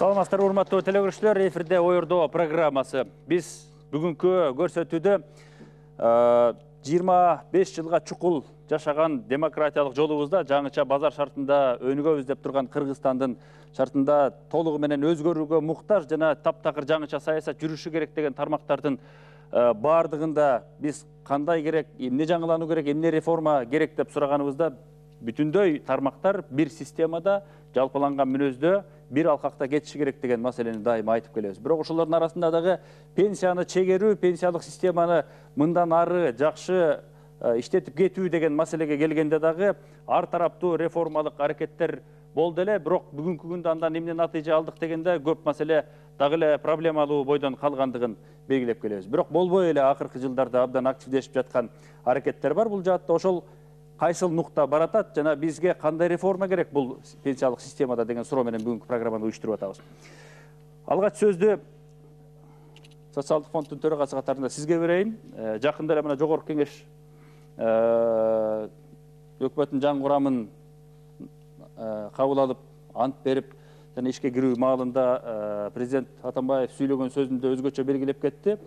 Саламатсыздар, урматтуу телекөрүүчүлөр, эфирде Оюрдоо программасы. Биз бүгүнкү көрсөтүүдө 25 жылга чукул жашаган демократиялык жолубузда жаңыча базар шартында өнүгөбүз деп турган Кыргызстандын шартында толугу менен өзгөрүүгө муктаж жана таптакыр жаңыча саясат жүрүшү керек деген тармактардын бардыгында биз кандай керек, эмне жаңылануу керек, эмне реформа керек деп сураганыбызда бүтүндөй тармактар бир системада, жалпыланган мүнөздө бир алкакта кетиши керек деген маселени дайыма айтып келебиз. Бирок ошолордун арасында дагы пенсияны чегерүү, пенсиялык системаны мындан ары жакшы иштетип кетүү деген маселеге келгенде дагы ар тараптуу реформалык аракеттер болду эле, бирок бүгүнкү күндө андан эмне натыйжа алдык дегенде көп маселе дагы эле проблемалуу бойдон калгандыгын белгилеп келебиз. Бирок болбой эле акыркы жылдарда абдан активдешип жаткан аракеттер бар. Бул жаатта ошол кайсыл нукта баратат жана бизге кандай реформа керек бул пенсиялык системада деген суроо менен бүгүнкү программаны уюштуруп атабыз. Алгач сөздү Социалдык фонддун төрагасы катарында сизге берейин. Жакында эле мына Жогорку Кеңеш өкмөттүн жаңы курамын кабыл алып, ант берип жана ишке кирүү маалында президент Атамбаев сүйлөгөн сөзүндө өзгөчө белгилеп кетти.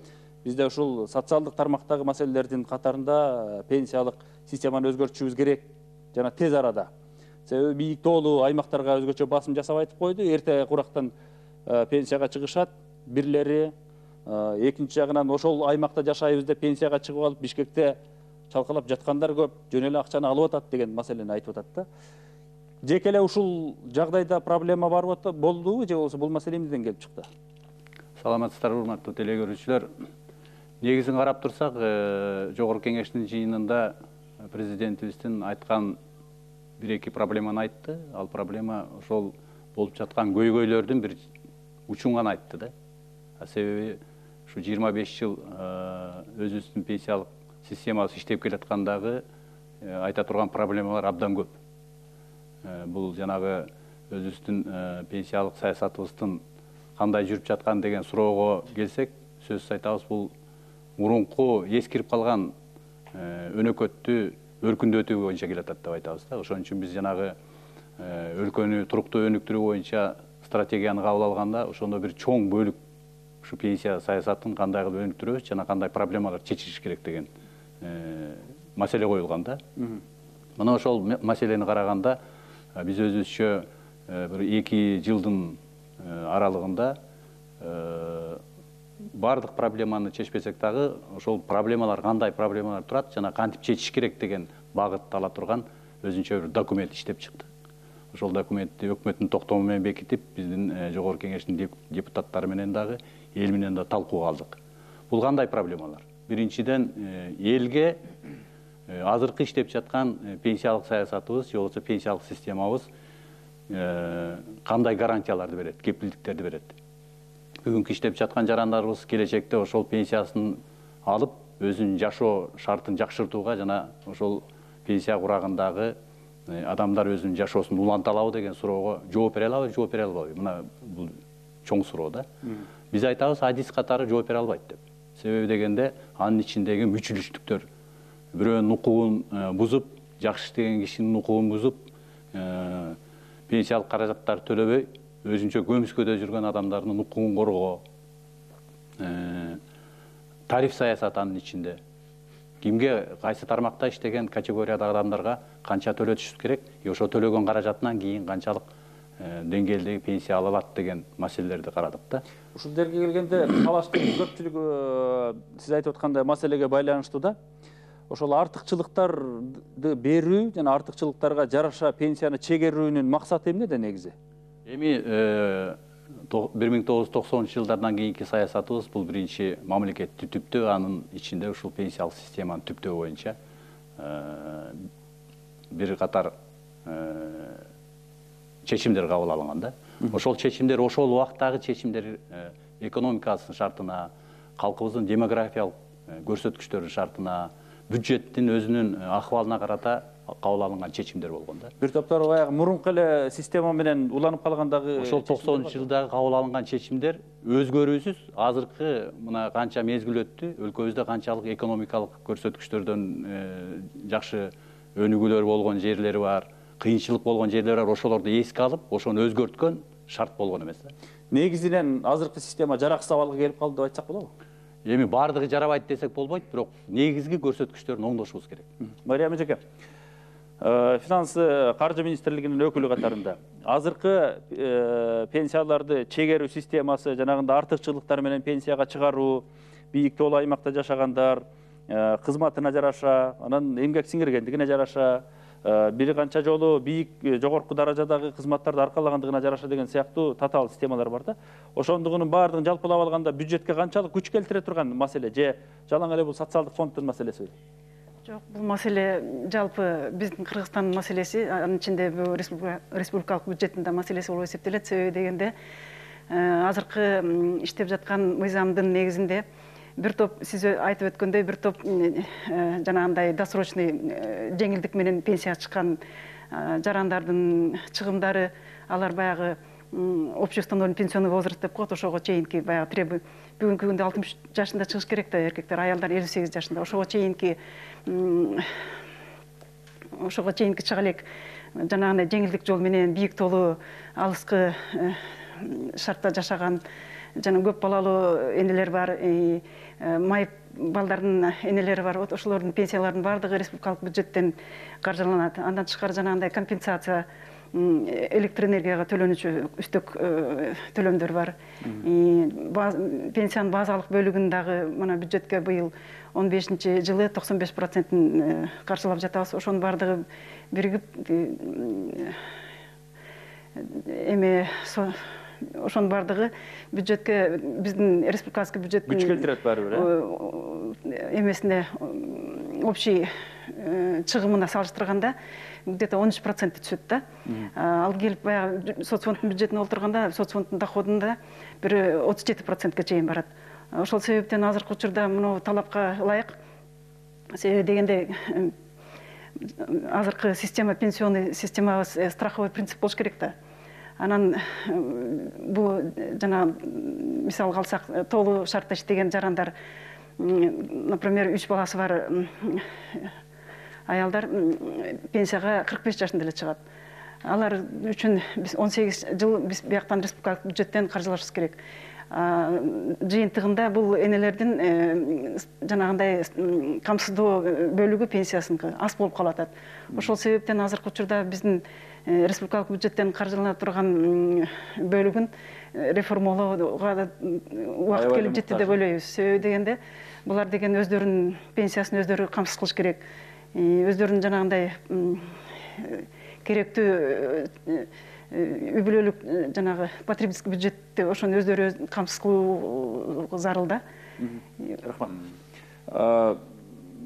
Бизде ушул социалдык тармактагы маселелердин катарында пенсиялык системаны өзгөртүшүбүз керек жана тез арада. Себеби бийик тоолуу аймактарга өзгөчө басым жасап айтып койду. Эрте курактан пенсияга чыгышат бирлери, экинчи жагынан ошол аймакта жашайбыз деп пенсияга чыгып алып Бишкекте чалкалап жаткандар көп, жөн эле акчаны алып атат деген маселени айтып атат да. Жеке эле ушул жагдайда проблема бар болдубу же болбосо бул маселе эмнеден келип чыкты? Саламатсыздар, урматтуу телекөрүүчүлөр. Негизин карап турсак, Жогорку Кеңештин жыйынында президентибиздин айткан бир-эки проблеманы айтты. Ал проблема ошол болуп жаткан көйгөйлөрдүн бир учуңан айтты да. Себеби ушу 25 жыл өзүбүздүн пенсиялык системабыз иштеп келаткандагы айта турган проблемалар абдан көп. Бул жанагы өзүбүздүн пенсиялык саясатыбыздын кандай жүрүп жаткан деген суроого келсек, сөзсүз айтабыз, бул мурунку эскирип калган өнөкөттү өркүндөтүү боюнча келатат деп айтабыз да. Ошон үчүн биз жанагы өлкөнү туруктуу өнүктүрүү боюнча стратегияны кабыл алганда, ошондо бир чоң бөлүк ушу пенсия саясатын кандай кылып өнүктүрөбүз жана кандай проблемалар чечилиш керек деген маселе коюлган да. Мына ошол маселени караганда биз өзүбүзчө бир 2 жылдын аралыгында бардык проблеманы чечпесек дагы ошол проблемалар кандай проблемалар турат жана кантип чечиш керек деген багытты ала турган өзүнчө бир документ иштеп чыкты. Ошол документти өкмөттүн токтому менен бекитип, биздин Жогорку Кеңештин депутаттары менен дагы эл менен да талкууга алдык. Бул кандай проблемалар? Биринчиден, элге азыркы иштеп жаткан пенсиялык саясатыбыз же болбосо пенсиялык системабыз кандай гарантияларды берет, кепилдиктерди берет. Бүгүнкү иштеп жаткан жарандарыбыз келечекте ошол пенсиясын алып, өзүнүн жашоо шартын жакшыртууга жана ошол пенсия курагындагы адамдар өзүнүн жашоосун уланта алабы деген суроого жооп бере алабы, жооп бере албайбы? Мына бул чоң суроо да. Биз айтабыз, адис катары жооп бере албайт деп. Себеби дегенде, анын ичиндеги мүчүлүштүктөр, бирөөнүн укугун бузуп, жакшы иштеген кишинин укугун бузуп, пенсиялык каражаттарды төлөбөй, өзүнчө көмүскөдө жүргөн адамдардын укугун коргоо, тариф саясаты анын ичинде. Кимге, кайсы тармакта иштеген категориядагы адамдарга канча төлөтүш керек, ошо төлөгөн каражатынан кийин канчалык деңгээлдеги пенсия ала алат деген маселелерди карадык да. Ушул жерге келгенде талаштын көпчүлүгү сиз айтып аткандай маселеге байланыштуу да. Ошол артыкчылыктарды берүү жана артыкчылыктарга жараша пенсияны чегерүүнүн максаты эмнеде негизи? Эми 1990 жылдардан кийинки саясатыбыз бул биринчи мамлекетти түптөө, анын ичинде ушул пенсиялык системаны түптөө боюнча бир катар чечимдер кабыл алынган да. Ошол чечимдер, ошол убактагы чечимдер экономикасынын шартына, калкыбыздын демографиялык көрсөткүчтөрүнүн шартына, бюджеттин өзүнүн акыбалына карата кабыл алынган чечимдер болгон да. Бир топтор баягы мурунку эле система менен уланып калгандагы ошол 90-жылдагы кабыл алынган чечимдер өзгөрүүсүз азыркы мына канча мезгил өттү, өлкөбүздө канчалык экономикалык көрсөткүчтөрдөн жакшы өнүгүүлөр болгон жерлери бар, кыйынчылык болгон жерлери бар, ошолорду эске алып, ошону өзгөрткөн шарт болгон эмес да. негизинен азыркы система жараксыз абалга келип калды деп айтсак болобу? Эми баардыгы жарабайт десек болбойт, бирок негизги көрсөткүчтөрүн оңдошубуз керек. Мария эжеке, каржы министрлигинин өкүлү катарында азыркы пенсияларды чегерүү системасы, жанагындай артыкчылыктар менен пенсияга чыгаруу, бийик тоолуу аймакта жашагандар, кызматына жараша, анан эмгек сиңиргендигине жараша, бир канча жолу бийик жогорку даражадагы кызматтарды аркалагандыгына жараша деген сыяктуу татаал системалар бар да. Ошондугунун баардыгын жалпылап алганда бюджетке канчалык күч келтире турган маселе же жалаң эле бул социалдык фонддун маселесиби? Жок, бул маселе жалпы биздин Кыргызстандын маселеси, анын ичинде бул республикалык бюджеттин да маселеси болуп эсептелет. Себеби дегенде азыркы иштеп жаткан мыйзамдын негизинде бир топ, сиз айтып өткөндөй, бир топ жанагындай досрочный жеңилдик менен пенсияга чыккан жарандардын чыгымдары, алар баягы общеустановленный пенсионный возраст деп коет, ошого чейинки баягы требование. Бүгүнкү күндө 63 жашында чыгыш керек да эркектер, аялдар 58 жашында. Ошого чейинки чыга элек жанагындай жеңилдик жол менен бийик тоолуу алыскы шартта жашаган жана көп балалуу энелер бар, майып балдардын энелери бар. Ошолордун пенсияларынын баардыгы республикалык бюджеттен каржыланат. Андан тышкары жанагындай компенсация, электроэнергияга төлөнүүчү үстөк төлөмдөр бар. Пенсиянын базалык бөлүгүн дагы мына бюджетке быйыл 15-жылы 95%-ын каржылап жатабыз. Ошонун баардыгы биригип ошонун баардыгы бюджетке, биздин республиканский бюджеттин күч келтирет баары бир, эмесине, общий чыгымына салыштырганда где-то 13% түшөт да. Ал келип баягы соцфонддун бюджетине олтурганда, соцфонддун доходунда бир 37%ке чейин барат. Ошол себептен азыркы учурда мына талапка ылайык, себеби дегенде азыркы система, пенсионный система страховой принцип болуш керек да. Анан бул жана мисалга алсак, тоолуу шартта иштеген жарандар, например, 3 баласы бар аялдар пенсияга 45 жашында эле чыгат. Алар үчүн биз 18 жыл биз бияктан республикалык бюджеттен каржылашыбыз керек. Жыйынтыгында бул энелердин жанагындай камсыздоо бөлүгү пенсиясыныкы аз болуп калат. Ошол себептен азыркы учурда биздин республикалык бюджеттен каржылана турган бөлүгүн реформалоого убакыт келип жетти деп ойлойбуз. Себеби дегенде булар деген өздөрүнүн пенсиясын өздөрү камсыз кылыш керек. Өздөрүнүн жанагындай керектүү үй бүлөлүк жанагы потребительский бюджетти ошону өздөрү камсыз кылуу зарыл да. Рахмат.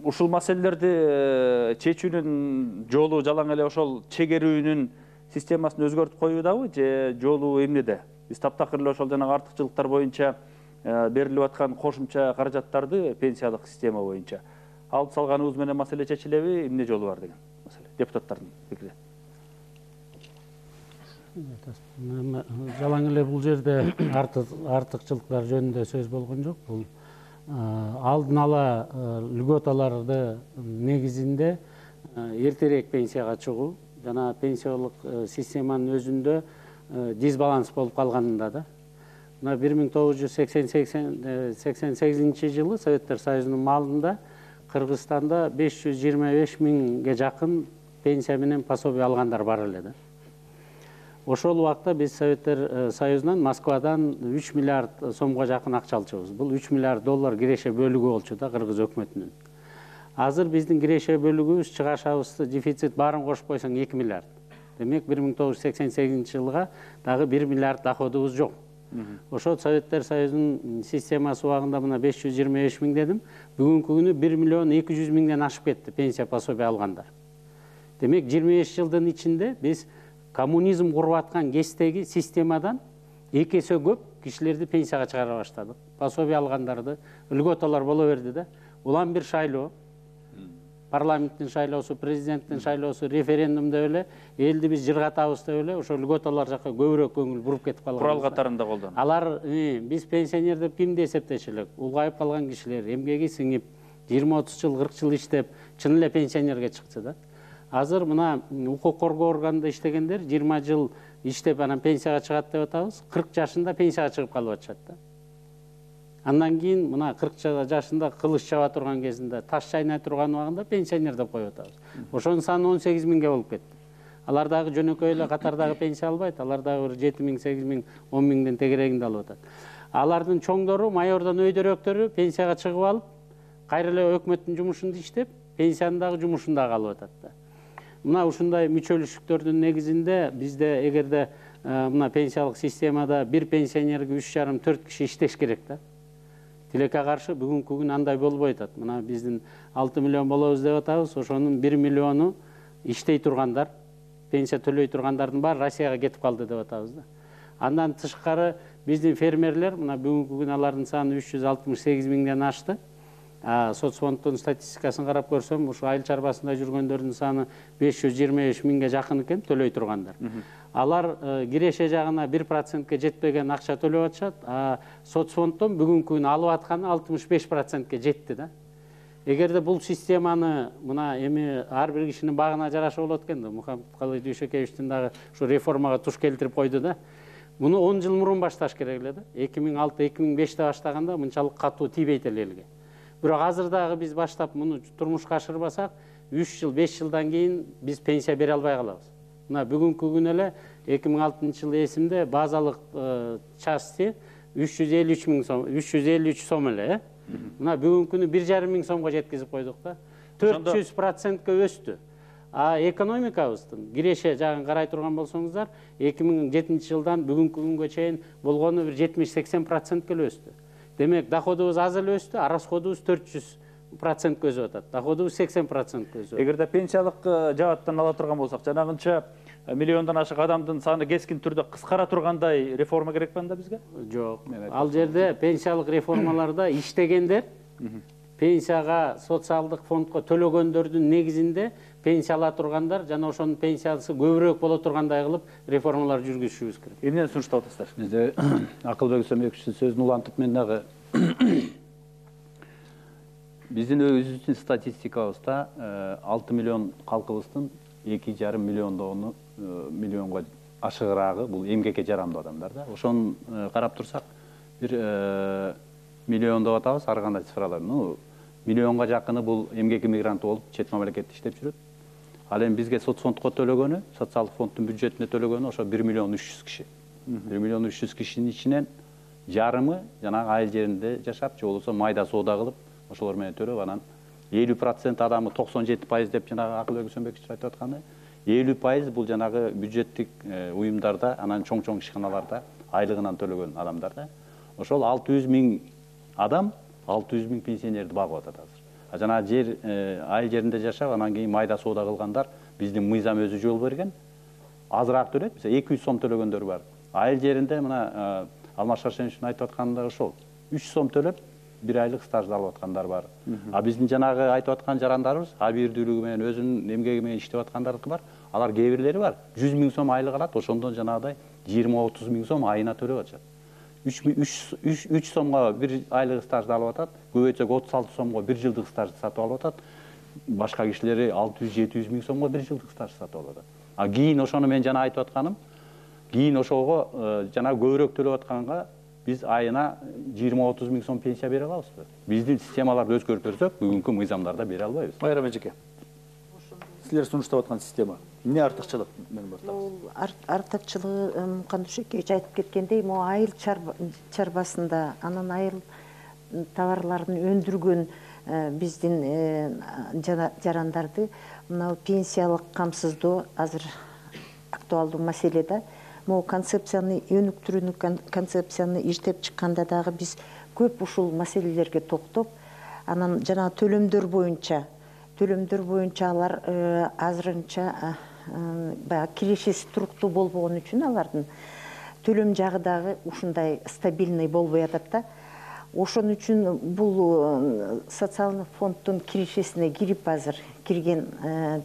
Ушул маселелерди чечүүнүн жолу жалаң эле ошол чегерүүнүн системасын өзгөртүп коюудабы же жолу эмнеде? Биз таптакыр эле ошол жанагы артыкчылыктар боюнча берилип аткан кошумча каражаттарды пенсиялык система боюнча алып салганыбыз менен маселе чечилеби, эмне жолу бар деген маселе депутаттардын пикири. Жалаң эле бул жерде артыкчылыктар жөнүндө сөз болгон жок. Бул алдын ала льготаларды негизинде эртерээк пенсияга чыгуу жана пенсиялык системанын өзүндө дисбаланс болуп калганында да. Мына 1988 жылы Советтер Союзунун маалында Кыргызстанда 525 миңге жакын пенсия менен пособие алгандар бар эле да. Ошол убакта биз Советтер Союзунан, Москвадан 3 миллиард сомго жакын акча алчубуз. Бул 3 миллиард доллар киреше бөлүгү болчу да Кыргыз өкмөтүнүн. Азыр биздин киреше бөлүгүбүз, чыгашабыз, дефицит баарын кошуп койсоң 2 миллиард. Демек 1988 жылга дагы 1 миллиард доходубуз жок. Ошол Советтер Союзунун системасы убагында мына 525 миң дедим. Бүгүнкү күнү 1 миллион 200 миңден ашып кетти пенсия пособие алгандар. Демек 25 жылдын ичинде биз коммунизм куруп аткан кездеги системадан 2 эсе көп кишилерди пенсияга чыгара баштадык. Пособие алгандарды, льготалар боло берди да. Улам бир шайлоо, парламенттин шайлоосу, президенттин шайлоосу, референдум деп эле элди биз жыргатабыз деп эле ошо льготалар жакка көбүрөөк көңүл буруп кетип калган. Курал катарында колдонот. Алар биз пенсионер деп кимди эсептеши элек? Улгайып калган кишилер, эмгеги сиңип, 20-30 жыл, 40 жыл иштеп, чын эле пенсионерге чыкты да. Азыр мына укук коргоо органында иштегендер 20 жыл иштеп анан пенсияга чыгат деп атабыз, 40 жашында пенсияга чыгып калып атышат да. Андан кийин мына 40 жашында кылыч чаба турган кезинде, таш чайнай турган убагында пенсионер деп коюп атабыз. Ошонун саны 18 миңге болуп кетти. Алар дагы жөнөкөй эле катардагы пенсия албайт, алар дагы бир 7 миң, 8 миң, 10 миңден тегерегинде алып атат. Алардын чоңдору, майордон өйдөрөөктөрү пенсияга чыгып алып, кайра эле өкмөттүн жумушунда иштеп, пенсиянын дагы жумушунда калып атат да. Мына ушундай мүчөлүштүктөрдүн негизинде бизде эгерде мына пенсиялык системада бир пенсионерге 3,5-4 киши иштеш керек да. Тилекке каршы бүгүнкү күн андай болбой атат. Мына биздин 6 миллион болобуз деп атабыз, ошонун 1 миллиону иштей тургандар, пенсия төлөй тургандардын баары Россияга кетип калды деп атабыз да. Андан тышкары биздин фермерлер, мына бүгүнкү күн алардын саны 368 миңден ашты. Соцфонддун статистикасын карап көрсөм, ушу айыл чарбасында жүргөндөрдүн саны 525 миңге жакын экен төлөй тургандар. Алар киреше жагына 1%ке жетпеген акча төлөп атышат, соцфонддон бүгүнкү күн алып атканы 65%ке жетти да. Эгерде бул системаны мына эми ар бир кишинин багына жараша болот экен да. Мухаммед Калый Дүйшөкеевичтин дагы ушу реформага туш келтирип койду да. Муну 10 жыл мурун башташ керек эле да. 2006-2005-те баштаганда мынчалык катуу тийбейт эле элге. Бирок азыр дагы биз баштап муну турмушка ашырбасак, 3 жыл, 5 жылдан кийин биз пенсия бере албай калабыз. Мына бүгүнкү күн эле 2006-жылы эсимде базалык части 353 миң сом, 353 сом эле. Мына бүгүнкү күнү 1,5 миң сомго жеткизип койдук да. 400%ке өстү. Экономикабыздын киреше жагын карай турган болсоңуздар, 2007 жылдан бүгүнкү күнгө чейин болгону бир 70-80%ке өстү. Демек, доходубуз аз эле өстү, а расходубуз 400%ке өсүп атат. Доходубуз 80%ке өсүп атат. Эгерде пенсиялык жааттан ала турган болсак, жанагынча миллиондон ашык адамдын саны кескин түрдө кыскара тургандай реформа керек анда бизге? Жок. Ал жерде пенсиялык реформаларда иштегендер пенсияга, социалдык фондко төлөгөндөрдүн негизинде пенсия ала тургандар жана ошонун пенсиясы көбүрөөк боло тургандай кылып реформалар жүргүзүшүбүз керек. Эмнени сунуштап атасыздар? Бизде Акылбек Сөмекчи сөзүн улантып мен дагы биздин өзүбүздүн статистикабызда 6 миллион калкыбыздын 2,5 миллионго ашыгыраагы бул эмгекке жарамдуу адамдар да. Ошону карап турсак, бир миллион деп атабыз, ар кандай цифралар. Миллионго жакыны бул эмгек мигранты болуп, чет мамлекетте иштеп жүрөт. Ал эми бизге соцфондко төлөгөнү, социалдык фонддун бюджетине төлөгөнү ошо 1 миллион 300 киши. 1 миллион 300 кишинин ичинен жарымы жанагы айыл жеринде жашап, же болбосо майда соода кылып, ошолор менен төлөп, анан 50% адамы 97% деп жанагы Акылбек Сөмбекчи айтып атканы, 50% бул жанагы бюджеттик уюмдарда, анан чоң-чоң ишканаларда айлыгынан төлөгөн адамдар да. Ошол 600 миң адам 600 миң пенсионерди багып атат азыр. Жана жер айыл жеринде жашап, анан кийин майда соода кылгандар биздин мыйзам өзү жол берген. Азыраак төлөйт, мисалы 200 сом төлөгөндөр бар. Айыл жеринде мына Алмаз Шаршеновичтин айтып атканы да ошол. 3 сом төлөп, 1 айлык стажды алып аткандар бар. Биздин жанагы айтып аткан жарандарыбыз, абийирдүүлүгү менен өзүнүн эмгеги менен иштеп аткандардыкы бар. Алар кээ бирлери бар. 100 миң сом айлык алат, ошондон жанагыдай 20-30 миң сом айына төлөп атышат. 3 сомго 1 айлык стажды алып атат, көбөйтсөк 36 сомго 1 жылдык стажды сатып алып атат. Башка кишилери 600-700 миң сомго 1 жылдык стажды сатып алып атат. Кийин ошону мен жана айтып атканым, кийин ошого жана көбүрөөк төлөп атканга биз айына 20-30 миң сом пенсия бере алабызбы? Биздин системаларды өзгөртөрсөк, бүгүнкү мыйзамдарда бере албайбыз. Майрам эжеке, силер сунуштап аткан система эмне артыкчылык менен бар? Артыкчылыгы Мукандушекевич айтып кеткендей, могу айыл чарбасында анан айыл товарларын өндүргөн биздин жарандарды мына пенсиялык камсыздоо азыр актуалдуу маселе да. Могу концепцияны, өнүктүрүүнү концепцияны иштеп чыкканда дагы биз көп ушул маселелерге токтоп, анан жана төлөмдөр боюнча алар азырынча баягы кирешеси туруктуу болбогон үчүн алардын төлөм жагы дагы ушундай стабильный болбой атат да. Ошон үчүн бул социалдык фонддун кирешесине кирип азыр кирген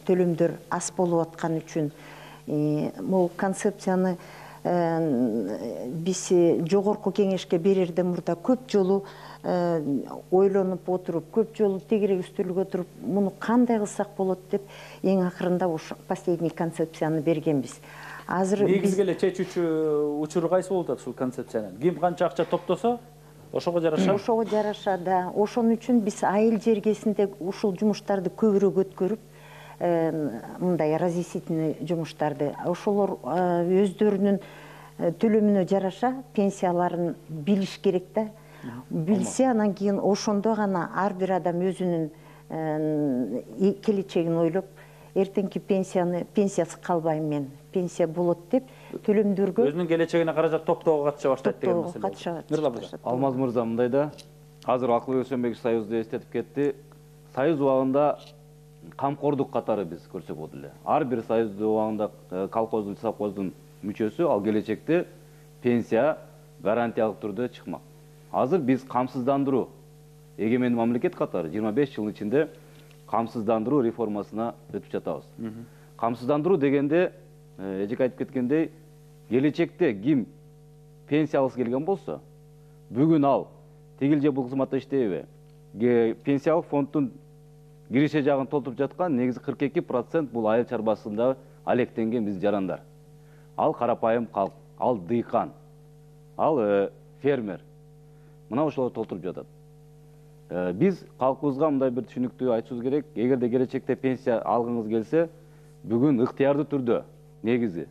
төлөмдөр аз болуп аткан үчүн могу концепцияны биз жогорку кеңешке берерден мурда көп жолу ойлонуп отуруп, көп жолу тегерек үстөлгө отуруп, муну кандай кылсак болот деп эң акырында последний концепцияны бергенбиз. Азыр негизги эле чечүүчү учуру кайсы болуп атат ушул концепциянын? Ким канча акча топтосо, ошого жараша? Ошого жараша, да. Ошон үчүн биз айыл жергесинде ушул жумуштарды көбүрөөк өткөрүп, мындай разъяснительный жумуштарды, ошолор өздөрүнүн төлөмүнө жараша пенсияларын билиш керек да. Билсе, анан кийин ошондо гана ар бир адам өзүнүн келечегин ойлоп, эртеңки пенсиясы калбайм мен, пенсия болот деп төлөмдөргө Өзүнүн келечегине каражат топтоого катыша баштайт деген маселе. Алмаз мырза, мындай да, азыр Акылбек Өсөнбеков Союзду эстетип кетти. Союз убагында камкордук катары биз көрсөк болот эле. Ар бир союз убагында колхоздун, совхоздун мүчөсү, ал келечекте пенсия гарантиялык түрдө чыкмак. Азыр биз камсыздандыруу, эгемендүү мамлекет катары 25 жылдын ичинде камсыздандыруу реформасына өтүп жатабыз. Камсыздандыруу дегенде, эжеке айтып кеткендей, келечекте ким пенсия алгысы келген болсо, бүгүн ал тигил же бул кызматта иштейби, пенсиялык фонддун киреше жагын толтуруп жаткан негизи 42% бул айыл чарбасында алектенген биз жарандар. Ал карапайым калк, ал дыйкан, ал фермер. Мына ошолор толтуруп жатат. Биз калкыбызга мындай бир түшүнүктүү айтышыбыз керек. Эгерде келечекте пенсия алгыңыз келсе, бүгүн ыктыярдуу түрдө негизи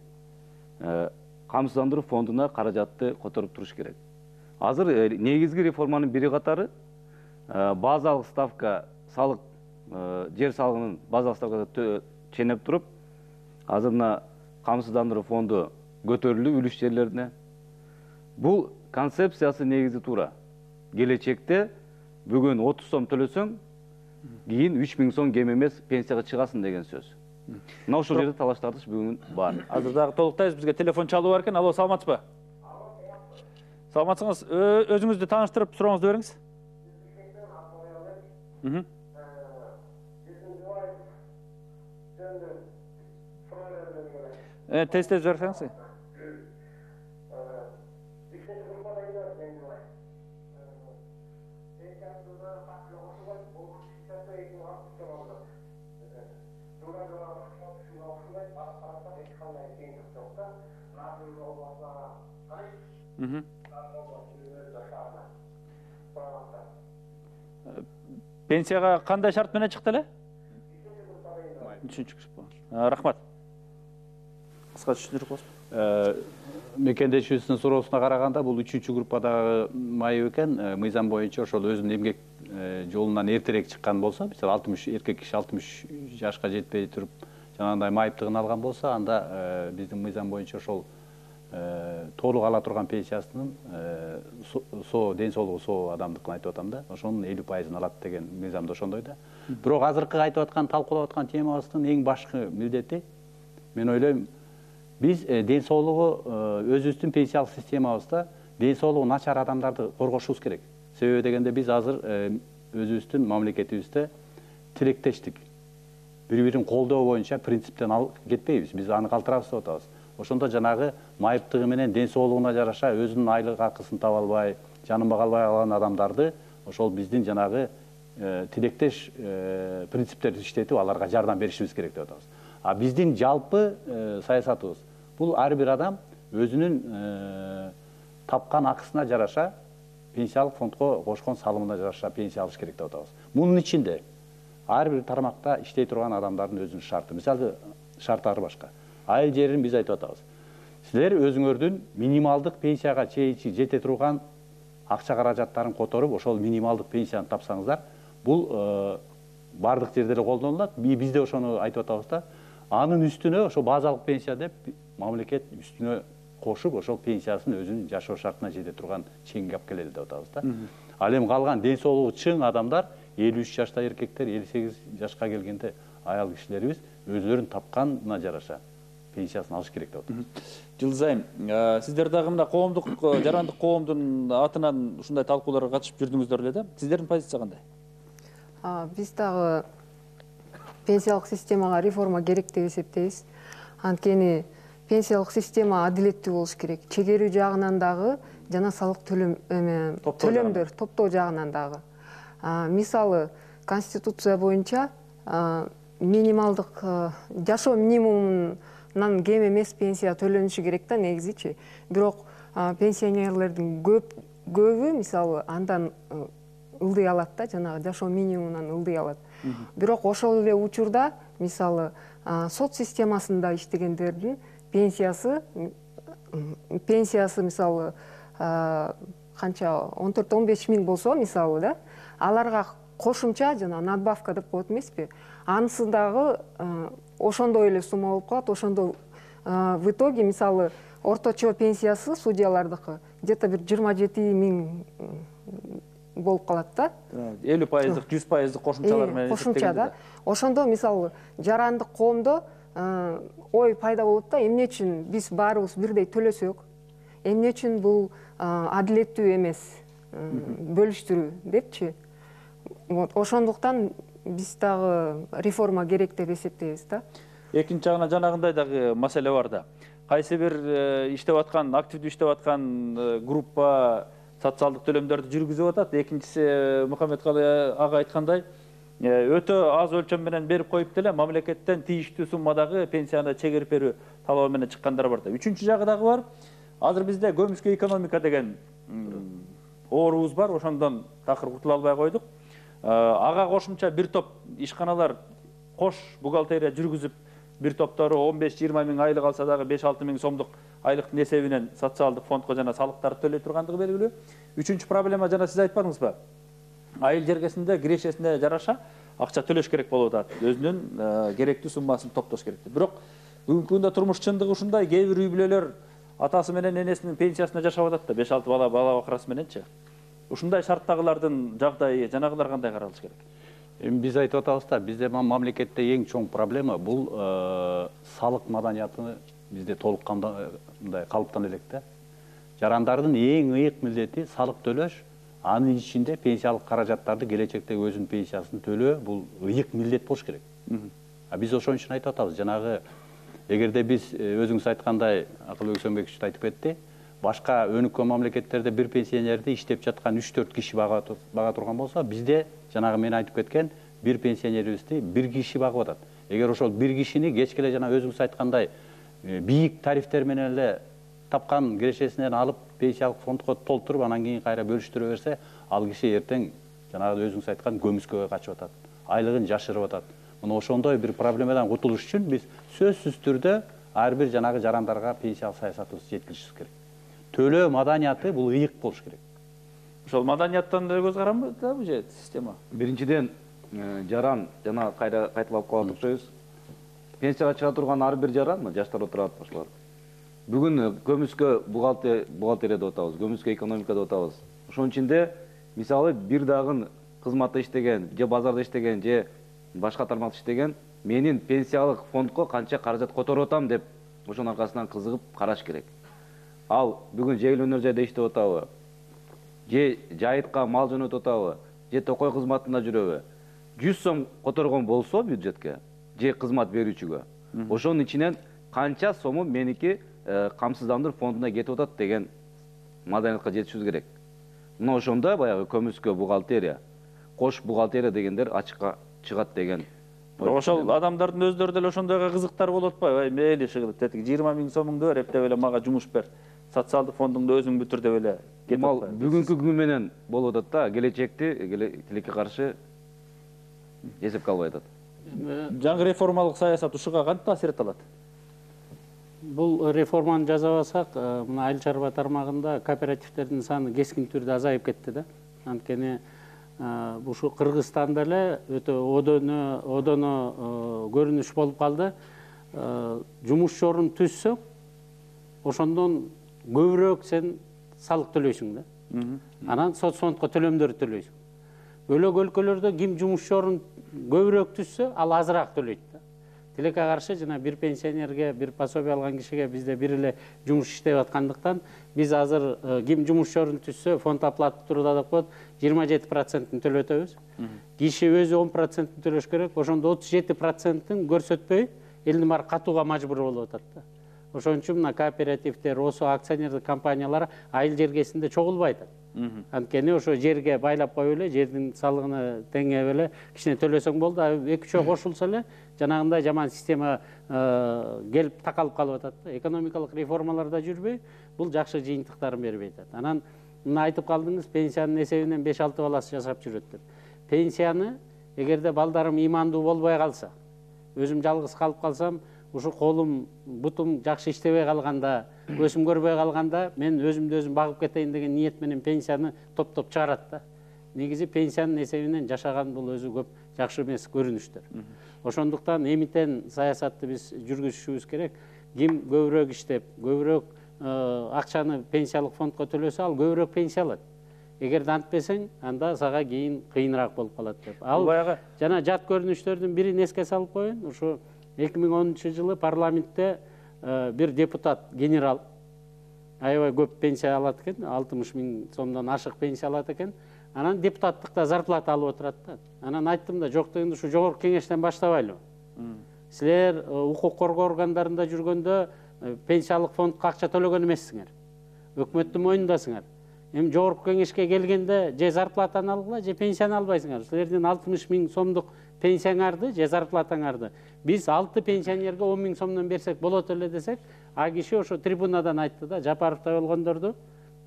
камсыздандыруу фондуна каражатты которуп туруш керек. Азыр негизги реформанын бири катары базалык ставка салык, жер салыгынын базалык ставкасы ченеп туруп, азыр мына камсыздандыруу фонду көтөрүлүү үлүш жерлерине. Бул концепциясы негизи туура. Келечекте бүгүн 30 сом төлөсөң, кийин 3000 сом кем эмес пенсияга чыгасың деген сөз. Мына ошол жерде талаш тартыш бүгүн бар. Азыр дагы толуктайбыз, бизге телефон чалуу бар экен. Алло, саламатсызбы? Саламатсыңыз, өзүңүздү тааныштырып сурооңузду бериңиз. Тез берсеңиз. Пенсияга кандай шарт менен чыкты эле? Рахмат. Кыска түшүндүрүп коесузбу? Мекендешибиздин суроосуна караганда, бул 3-чү группадагы майып экен. Мыйзам боюнча ошол өзүнүн эмгек жолунан эртерээк чыккан болсо, мисалы 60 эркек киши 60 жашка жетпей туруп жанагындай майыптыгын алган болсо, анда биздин мыйзам боюнча ошол толук ала турган пенсиясынын ден соолугу соо адамдыкын айтып атам да, ошонун 50%-ын алат деген мыйзамда ошондой да. Бирок азыркы айтып аткан, талкуулап аткан темабыздын эң башкы милдети, мен ойлойм, биз ден соолугу өзүбүздүн пенсиялык системабызда ден соолугу начар адамдарды коргошубуз керек. Себеби дегенде биз азыр өзүбүздүн мамлекетибизде тилектештик, бири-бирин колдоо боюнча принциптен кетпейбиз. Биз аны калтырабыз деп атабыз. Ошондо жанагы майыптыгы менен ден соолугуна жараша өзүнүн айлык акысын таба албай, жаныма калбай калган адамдарды ошол биздин жанагы тилектеш принциптерди иштетип, аларга жардам беришибиз керек деп атабыз. А биздин жалпы саясатыбыз бул ар бир адам өзүнүн тапкан акысына жараша пенсиялык фондко кошкон салымына жараша пенсия алыш керек деп атабыз. Мунун ичинде ар бир тармакта иштей турган адамдардын өзүнүн шарты. Мисалы, шарттары башка. Айыл жерин биз айтып атабыз. Силер өзүңөрдүн минималдык пенсияга чейинчи жете турган акча каражаттарын которуп, ошол минималдык пенсияны тапсаңыздар, бул бардык жерде эле колдонулат. Бизде ошону айтып атабыз да. Анын үстүнө ошо базалык пенсия деп мамлекет үстүнө кошуп, ошол пенсиясын өзүнүн жашоо шартына жете турган чегиңге алып келели деп атабыз да. Ал эми калган ден соолугу чың адамдар, 53 жашта эркектер, 58 жашка келгенде аял кишилерибиз өзүлөрүн тапканына жараша пенсиясын алыш керек деп атабыз. Жылдыз айым, сиздер дагы мына коомдук, жарандык коомдун атынан ушундай талкууларга катышып жүрдүңүздөр эле да. Сиздердин позиция кандай? Биз дагы пенсиялык системага реформа керек деп эсептейбиз. Анткени пенсиялык система адилеттүү болуш керек. Чегерүү жагынан дагы жана салык төлөмдөр топтоо жагынан дагы. Мисалы, Конституция боюнча минималдык жашоо минимумун Мындан кем эмес пенсия төлөнүшү керек да негизичи. Бирок пенсионерлердин көбү мисалы андан ылдый алат да, жанагы жашоо минимумунан ылдый алат. Бирок ошол эле учурда мисалы сот системасында иштегендердин пенсиясы мисалы канча 14-15 миң болсо мисалы да, аларга кошумча жана надбавка деп коет эмеспи, анысы дагы ошондой эле сумма болуп калат. Ошондо в итоге мисалы орточо пенсиясы судьялардыкы где-то бир 27 миң болуп калат да. 50%, 100% кошумчалар менен кошумча да. Ошондо мисалы жарандык коомдо ой пайда болот да, эмне үчүн биз баарыбыз бирдей төлөсөк, эмне үчүн бул адилеттүү эмес бөлүштүрүү депчи. Ошондуктан биз дагы реформа керек деп эсептейбиз да. Экинчи жагынан жанагындай дагы маселе бар да. Кайсы бир иштеп аткан, активдүү иштеп аткан группа социалдык төлөмдөрдү жүргүзүп атат. Экинчиси Мухаммедкалый ага айткандай, өтө аз өлчөм менен берип коюп деле мамлекеттен тийиштүү суммадагы пенсияны чегерип берүү талабы менен чыккандар бар да. Үчүнчү жагы дагы бар. Азыр бизде көмүскө экономика деген оорубуз бар. Ошондон такыр кутула албай койдук. Ага кошумча бир топ ишканалар кош бухгалтерия жүргүзүп, бир топтору 15-20 миң айлык алса дагы 5-6 миң сомдук айлыктын эсебинен социалдык фондко жана салыктарды төлөй тургандыгы белгилүү. Үчүнчү проблема жана сиз айтпадыңызбы? Айыл жергесинде кирешесине жараша акча төлөш керек болуп атат. Өзүнүн керектүү суммасын топтош керек. Бирок бүгүнкү күндө турмуш чындыгы ушундай, кээ бир үй бүлөлөр атасы менен энесинин пенсиясына жашап атат да, 5-6 бала бакырасы мененчи. Ушундай шарттагылардын жагдайы жанагылар кандай каралыш керек? Биз айтып атабыз да, бизде мамлекетте эң чоң проблема бул салык маданияты бизде толуккандай калыптана элек да. Жарандардын эң ыйык милдети салык төлөш, анын ичинде пенсиялык каражаттарды келечекте өзүнүн пенсиясын төлөө бул ыйык милдет болуш керек. Биз ошон үчүн айтып атабыз, жанагы эгерде биз өзүңүз айткандай, Акылбек Өксөнбекович айтып кетти, башка өнүккөн мамлекеттерде бир пенсионерди иштеп жаткан 3-4 киши бага турган болсо, бизде жанагы мен айтып кеткен бир пенсионерибизди бир киши багып атат. Эгер ошол бир кишини кечке эле жана өзүңүз айткандай бийик тарифтер менен эле тапкан кирешесинен алып пенсиялык фондко толтуруп, анан кийин кайра бөлүштүрө берсе, ал киши эртең жанагы өзүңүз айткан көмүскөгө качып атат, айлыгын жашырып атат. Мына ошондой бир проблемадан кутулуш үчүн биз сөзсүз түрдө ар бир жанагы жарандарга пенсиялык саясатыбызды жеткиришибиз керек. Төлөө маданияты бул ыйык болуш керек. Ошол маданияттан да көз каранбы да бул же система? Биринчиден жаран жана кайталап калып окшойбуз. Пенсияга чыга турган ар бир жаран, жаштар отурат башкалар. Бүгүн көмүскө бухгалтерия деп атабыз, көмүскө экономика деп атабыз. Ошонун ичинде мисалы бир дагы кызматта иштеген, же базарда иштеген, же башка тармакта иштеген менин пенсиялык фондко канча каражат которуп атам деп ошонун аркасынан кызыгып караш керек. Ал бүгүн жегил өнөр жайда иштеп атабы, же жайытка мал жөнөтүп атабы, же токой кызматында жүрөбү, 100 сом которгон болсо бюджетке, же кызмат берүүчүгө, ошонун ичинен канча сому меники камсыздандыруу фондуна кетип атат деген маданиятка жетишибиз керек. Мына ошондо баягы көмүскө бухгалтерия, кош бухгалтерия дегендер ачыкка чыгат деген. Ошол адамдардын өздөрү деле ошондойго кызыктар болуп атпайбы? Мейли шыгылып тетиги 20 миң сомуңду бер, эптеп эле мага жумуш бер. Социалдык фондуңду өзүң бүтүр деп эле кетип атпайбы? Бүгүнкү күн менен болуп атат да, келечекти тилекке каршы эсепке албай атат. Жаңы реформалык саясат ушуга кантип таасир эте алат? Бул реформаны жасабасак, мына айыл чарба тармагында кооперативтердин саны кескин түрдө азайып кетти да. Анткени ушу Кыргызстанда эле өтө одоно көрүнүш болуп калды. Жумуш орун түзсөң, ошондон көбүрөөк сен салык төлөйсүң да. Анан соцфондко төлөмдөрдү төлөйсүң. Бөлөк өлкөлөрдө ким жумуш орун көбүрөөк түзсө, ал азыраак төлөйт да. Тилекке каршы жана бир пенсионерге, бир пособие алган кишиге бизде бир эле жумуш иштеп аткандыктан биз азыр ким жумуш орун түзсө, фонд оплата туруда деп коет, 27%-ын төлөтөбүз. Киши өзү 10%-ын төлөш керек, ошондо 37%-ын көрсөтпөй элдин баары катууга мажбур болуп атат да. Ошон үчүн мына кооперативдер, осо акционердик компаниялар айыл жергесинде чогулбай атат. Анткени ошо жерге байлап коюп эле, жердин салыгына теңеп эле кичине төлөсөң болду. 2-3 кошулса эле жанагындай жаман система келип такалып калып атат да. Экономикалык реформалар да жүрбөй, бул жакшы жыйынтыктарын бербей атат. Анан мына айтып калдыңыз, пенсиянын эсебинен 5-6 баласы жашап жүрөт деп. Пенсияны эгерде балдарым имандуу болбой калса, өзүм жалгыз калып калсам, ушу колум, бутум жакшы иштебей калганда, өсүм көрбөй калганда, мен өзүмдү өзүм багып кетейин деген ниет менен пенсияны топтоп чыгарат да. Негизи пенсиянын эсебинен жашаган бул өзү көп жакшы эмес көрүнүштөр. Ошондуктан эмитен саясатты биз жүргүзүшүбүз керек. Ким көбүрөөк иштеп, көбүрөөк акчаны пенсиялык фондко төлөсө, ал көбүрөөк пенсия алат. Эгерде антпесең, анда сага кийин кыйыныраак болуп калат деп. Ал жана жат көрүнүштөрдүн бирин эске салып коеюн. Ушу 2010-жылы парламентте бир депутат, генерал, аябай көп пенсия алат экен, 60 000 сомдон ашык пенсия алат экен. Анан депутаттыкта зарплата алып отурат да. Анан айттым да, жок дегенде ушу жогорку кеңештен баштабайлы. Силер укук коргоо органдарында жүргөндө пенсиялык фондко акча төлөгөн эмессиңер. Өкмөттүн мойнундасыңар. Эми жогорку кеңешке келгенде же зарплатаны алгыла, же пенсияны албайсыңар. Силердин 60 000 сомдук пенсияңарды же зарплатаңарды биз 6 пенсионерге 10 000 сомдон берсек болот эле десек, а киши ошо трибунадан айтты да, Жапаровдой болгондорду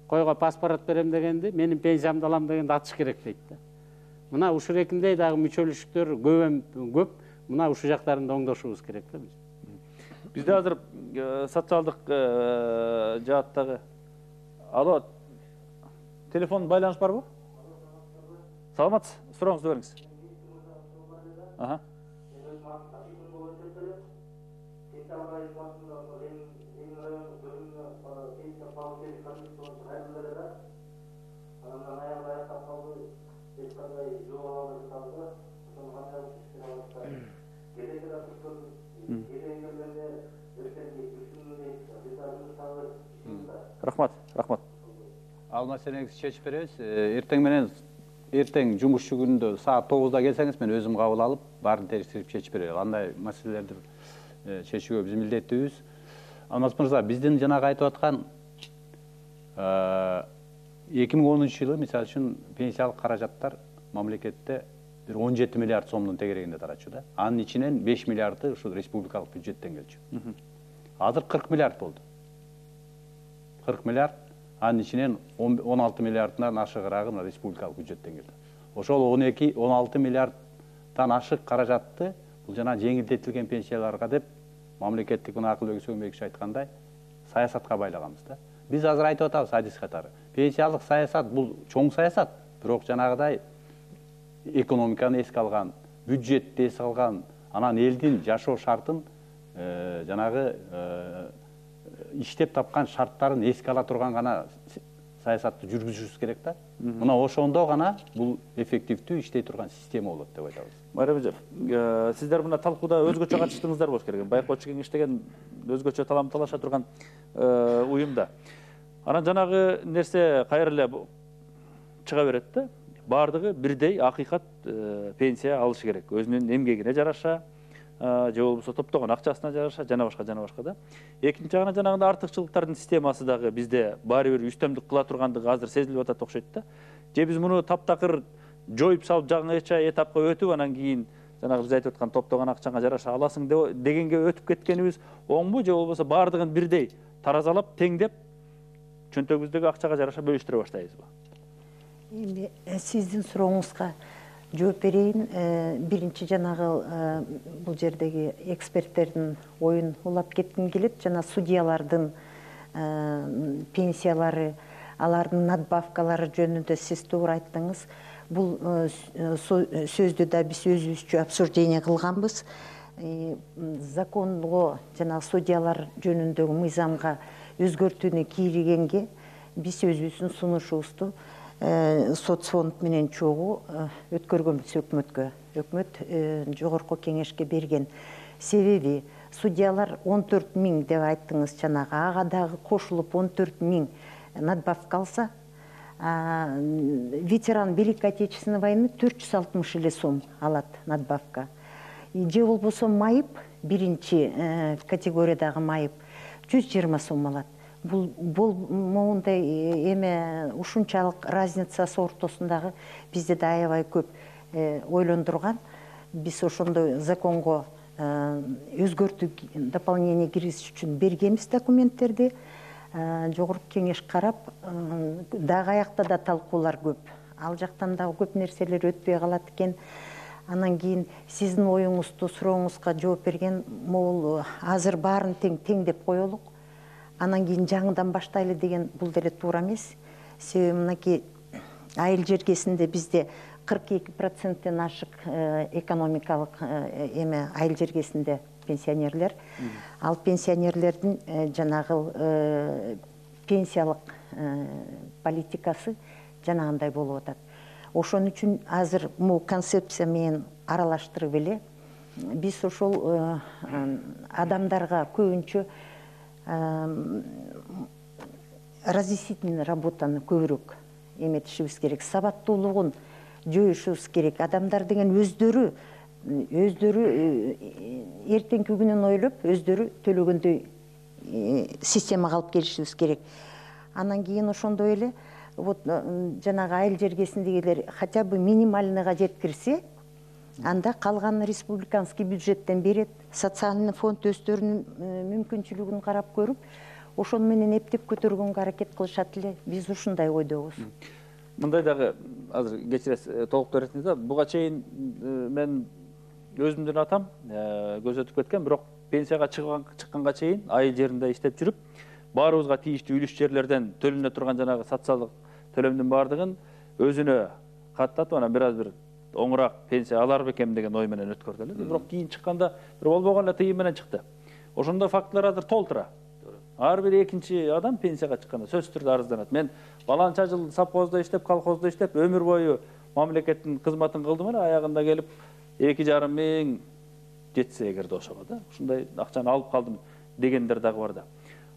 койго паспорт берем дегенди, менин пенсиямды алам дегенди атыш керек дейт да. Мына ушул экиндей дагы мүчөлүштөр көп, мына ушул жактарын да оңдошубуз керек да биз. Бизде азыр социалдык жааттагы. Алло, телефон байланыш барбы? Саламатсыз, сурооңузду бериңиз. Рахмат. Ал маселеңизди чечип беребиз. Эртең жумушчу күндө саат 9-да келсеңиз, мен өзүм кабыл алып, баарын териштирип чечип берем. Андай маселелерди чечүүгө биз милдеттүүбүз. Алмаз мырза, биздин жанагы айтып аткан 2010-жылы, мисалы үчүн, пенсиялык каражаттар мамлекетте 17 миллиард сомдун тегерегинде тарачу да. Анын ичинен 5 миллиарды ушу республикалык бюджеттен келчү. Азыр 40 миллиард болду. 40 миллиард, анын ичинен 16 миллиарддан ашыгыраагы республикалык бюджеттен келди. Ошол 12-16 миллиарддан ашык каражатты бул жана жеңилдетилген пенсияларга деп мамлекеттик мына Акылбек Сөөнбекович айткандай саясатка байлаганбыз да. Биз азыр айтып атабыз адис катары. Пенсиялык саясат бул чоң саясат, бирок жанагыдай экономиканы эске алган, бюджетти эске алган, анан элдин жашоо шартын жанагы иштеп тапкан шарттарын эске ала турган гана саясатты жүргүзүшүбүз керек да. Мына ошондо гана бул эффективдүү иштей турган система болот деп айтабыз. Майра эже, сиздер мына талкууда өзгөчө катыштыңыздар болуш керек. Байкоочу кеңеш деген өзгөчө талам талаша турган уюмда. Анан жанагы нерсе кайра эле чыга берет да. Бардыгы бирдей акыйкат пенсия алышы керек. Өзүнүн эмгегине жараша, же болбосо топтогон акчасына жараша, жана башка да. Экинчи жагынан жанагындай артыкчылыктардын системасы дагы бизде баары бир үстөмдүк кыла тургандыгы азыр сезилип атат окшойт да. Же биз муну таптакыр жоюп салып жаңыча этапка өтүп, анан кийин жанагы биз айтып аткан топтогон акчаңа жараша аласың дегенге өтүп кеткенибиз оңбу, же болбосо баардыгын бирдей таразалап, теңдеп, чөнтөгүбүздөгү акчага жараша бөлүштүрө баштайбызбы? Эми сиздин сурооңузга жооп берейин. Биринчи жанагы бул жердеги эксперттердин оюн улап кетким келет. Жана судьялардын пенсиялары, алардын надбавкалары жөнүндө сиз туура айттыңыз. Бул сөздү да биз өзүбүзчө обсуждение кылганбыз. Законго жана судьялар жөнүндөгү мыйзамга өзгөртүүнү киргенге биз өзүбүздүн сунушубузду соцфонд менен чогуу өткөргөнбүз өкмөткө. Өкмөт жогорку кеңешке берген. Себеби судьялар 14 000 деп айттыңыз жанагы, ага дагы кошулуп 14 000 надбавка алса, ветеран Великой Отечественной войны 460 эле сом алат надбавка. Же болбосо майып, биринчи категориядагы майып 120 сом алат. бул моундай эме ушунчалык разницасы ортосундагы бизде да аябай көп ойлондурган. Биз ошондой законго өзгөртүү дополнение киргизиш үчүн бергенбиз документтерди. Жогорку кеңеш карап, дагы аякта да талкуулар көп. Ал жактан дагы көп нерселер өтпөй калат экен. Анан кийин сиздин оюңузду, сурооңузга жооп берген, могул азыр баарын тең деп коелук. Анан кийин жаңыдан баштайлы деген бул деле туура эмес. Себеби мынакей айыл жергесинде бизде 42%-тен ашык экономикалык эме айыл жергесинде пенсионерлер. Ал пенсионерлердин жанагы пенсиялык политикасы жанагындай болуп атат. Ошон үчүн азыр бул концепция менен аралаштырып эле биз ошол адамдарга көбүнчө разъяснительный работаны көбүрөөк эметишибиз керек. Сабаттуулугун жоюшубуз керек. Адамдар деген өздөрү эртеңки күнүн ойлоп, өздөрү төлөгөндөй системага алып келишибиз керек. Анан кийин ошондой эле вот жанагы айыл жергесиндегилер хотя бы минимальныйга жеткирсе, анда калган республиканский бюджеттен берет, социальный фонд өздөрүнүн мүмкүнчүлүгүн карап көрүп, ошону менен эптеп көтөргөнгө аракет кылышат эле. Биз ушундай ойдобуз. Мындай дагы азыр кечиресиз, толуктоо эртиңиз да. Буга чейин мен өзүмдүн атам көзөтүп кеткен, бирок пенсияга чыкканга чейин айыл жеринде иштеп жүрүп, баарыбызга тийиштүү үлүш жерлерден төлөнө турган жанагы социалдык төлөмдүн баардыгын өзүнө каттатып, анан бир аз бир оңураак пенсия алар бекем деген ой менен өткөрдү эле. Бирок кийин чыкканда бир болбогон эле тыйым менен чыкты. Ошондой фактылар азыр толтура. Ар бир экинчи адам пенсияга чыкканда сөзсүз түрдө арызданат. Мен баланча жыл совхоздо иштеп, колхоздо иштеп, өмүр бою мамлекеттин кызматын кылдым эле, аягында келип 2,5 миң жетсе эгерде ошого да, ушундай акчаны алып калдым дегендер дагы бар да.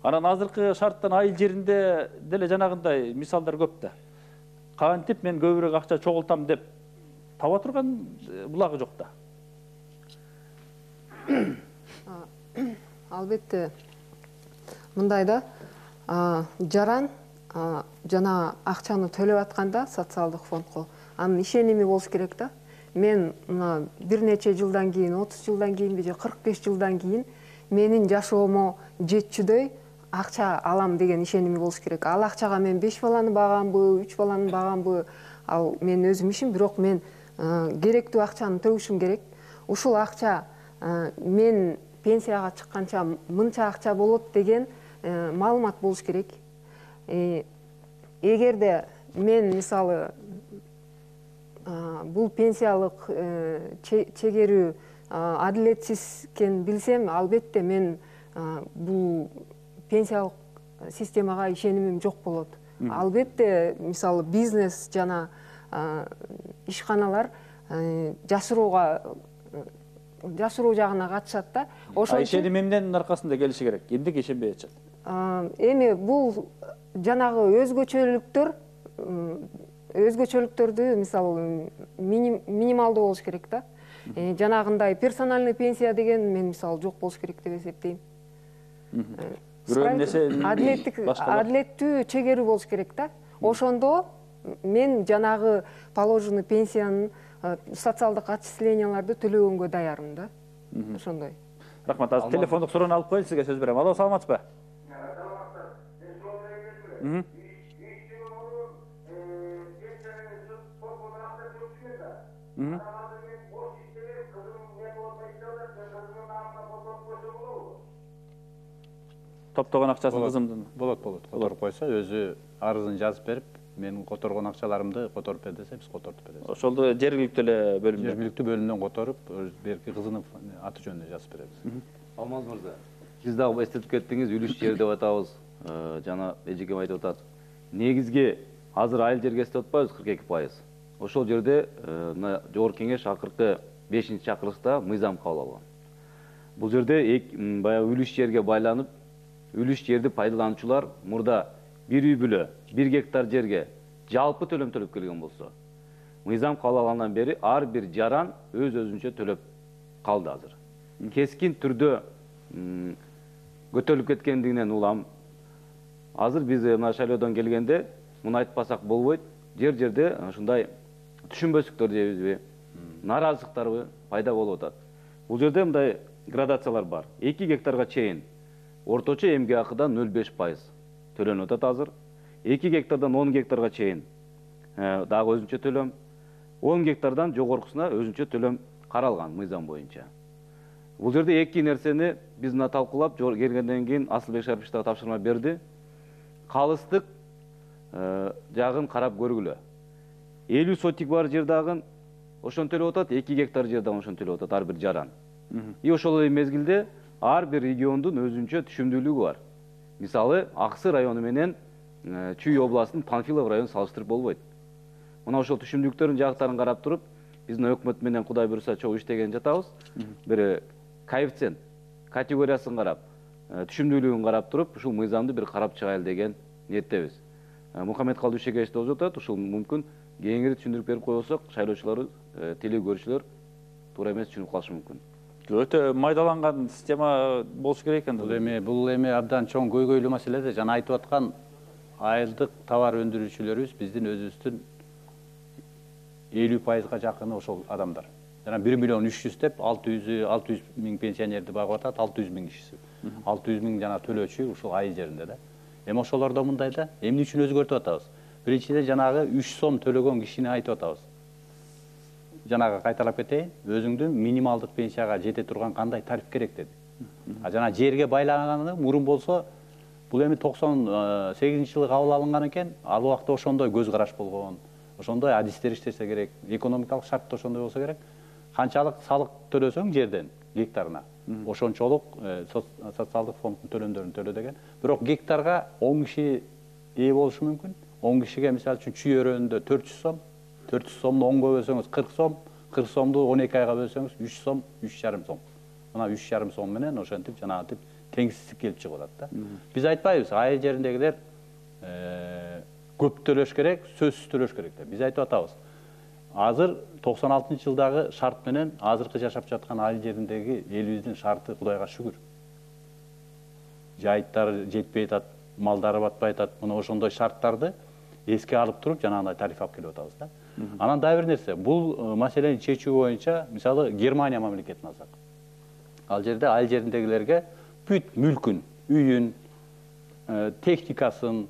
Анан азыркы шарттан айыл жеринде деле жанагындай мисалдар көп да. Кантип мен көбүрөөк акча чогултам деп таба турган булагы жок да. Албетте мындай да, жаран жана акчаны төлөп атканда социалдык фондко анын ишеними болуш керек да. Мен мына бир нече жылдан кийин, 30 жылдан кийинби же 45 жылдан кийин менин жашоомо жетчүдөй акча алам деген ишеними болуш керек. Ал акчага мен 5 баланы багамбы, 3 баланы багамбы, ал мен өзүм ишим, бирок мен керектүү акчаны төгүшүм керек. Ушул акча мен пенсияга чыкканча мынча акча болот деген маалымат болуш керек. Эгерде мен мисалы бул пенсиялык чегерүү адилетсиз экенин билсем, албетте мен бул пенсиялык системага ишенимим жок болот. Албетте мисалы бизнес жана ишканалар жашыруу жагына катышат да. Ошон ишенимимдин аркасында келиши керек. Эмнеге ишенбей атышат? Эми бул жанагы өзгөчөлүктөрдү мисалы минималдуу болуш керек да. Жанагындай персональный пенсия деген мен мисалы жок болуш керек деп эсептейм. Адилеттүү чегерүү болуш керек да. Ошондо мен жанагы положенный пенсиянын социалдык отчисленияларды төлөгөнгө даярмын да. Ошондой. Рахмат. Азыр телефондук суроону алып коеюн, сизге сөз берем. Алло, саламатсызбы? Топтогон акчасын кызымдын. Болот. Которуп койсо, өзү арызын жазып берип, менин которгон акчаларымды которуп бер десе, биз которуп беребиз. Ошолду жергиликтүү эле бөлүмдөн. Жергиликтүү бөлүмдөн которуп, берки кызынын аты жөнүнө жазып беребиз. Алмаз мырза, сиз дагы эстетип кеттиңиз, үлүш жер деп атабыз. Жана эжекем айтып атат. Негизги азыр айыл жергеси деп атпайбыз 42%. Ошол жерде мына жогорку кеңеш акыркы 5-чакырылышта мыйзам кабыл алган. Бул жерде баягы үлүш жерге байланып, үлүш жерди пайдалануучулар мурда бир үй бүлө 1 гектар жерге жалпы төлөм төлөп келген болсо, мыйзам кабыл алгандан бери ар бир жаран өзүнчө төлөп калды азыр. Кескин түрдө көтөрүлүп кеткендигинен улам азыр биз мына шайлоодон келгенде муну айтпасак болбойт. Жерде ушундай түшүнбөстүктөр дейбизби, нааразычылыктарбы пайда болуп атат. Бул жерде мындай градациялар бар. 2 гектарга чейин орточо эмгек акыдан 0,5% төлөнүп атат азыр. 2 гектардан 10 гектарга чейин дагы өзүнчө төлөм, 10 гектардан жогоркусуна өзүнчө төлөм каралган мыйзам боюнча. Бул жерде эки нерсени биз мына талкуулап келгенден кийин Асылбек Шарипович да тапшырма берди. Калыстык жагын карап көргүлө. 50 сотик бар жер дагы ошону төлөп атат, 2 гектар жер дагы ошону төлөп атат ар бир жаран. И ошол эле мезгилде ар бир региондун өзүнчө түшүмдүүлүгү бар. Мисалы, Аксы району менен Чүй областынын Панфилов районун салыштырып болбойт. Мына ошол түшүмдүүлүктөрдүн жактарын карап туруп, биздин өкмөт менен Кудай буйруса чогуу иштеген жатабыз. Бир коэффициент категориясын карап, түшүмдүүлүгүн карап туруп, ушул мыйзамды бир карап чыгайлы деген ниеттебиз. Мухаммед Калдышекевич да өтөт, ушул мүмкүн кеңири түшүндүрүп берип койсок, шайлоочулар, теле көрүүчүлөр туура эмес түшүнүп калышы мүмкүн. Өтө майдаланган система болуш керек экен. Бул эми абдан чоң көйгөйлүү маселеде жана айтып аткан айылдык товар өндүрүүчүлөрүбүз биздин өзүбүздүн 50%га жакыны ошол адамдар. Жана 1 миллион 300 деп 600 миң пенсионерди багып атат, 600 миң кишиси. 600 миң жана төлөөчү ушул айыл жеринде да. Эми ошолордо мындай да, эмне үчүн өзгөртүп атабыз? Биринчиден жанагы 3 сом төлөгөн кишини айтып атабыз. Жанагы кайталап кетейин, өзүңдүн минималдык пенсияга жете турган кандай тариф керек деди. Жана жерге байланганы мурун болсо, бул эми 98-жылы кабыл алынган экен, ал убакта ошондой көз караш болгон, ошондой адистер иштесе керек, экономикалык шарт да ошондой болсо керек. Канчалык салык төлөсөң жерден гектарына, ошончолук социалдык фонддун төлөмдөрүн төлө деген. Бирок гектарга 10 киши ээ болушу мүмкүн. 10 кишиге мисалы үчүн Чүй өрөөнүндө 400 сом, 400 сомду 10го бөлсөңүз 40 сом, 40 сомду 12 айга бөлсөңүз 3 сом, 3,5 сом. Мына 3,5 сом менен ошентип жанагынтип теңсиздик келип чыгып атат да. Биз айтпайбыз, айыл жериндегилер көп төлөш керек, сөзсүз төлөш керек деп. Биз айтып атабыз. Азыр 96-жылдагы шарт менен азыркы жашап жаткан айыл жериндеги элибиздин шарты Кудайга шүгүр. Жайыттары жетпей атат, малдары батпай атат. Мына ошондой шарттарды эске алып туруп жанагындай тариф алып келип атабыз да. Анан дагы бир нерсе, бул маселени чечүү боюнча, мисалы, Германия мамлекетин алсак. Ал жерде айыл жериндегилерге бүт мүлкүн, үйүн, техникасын,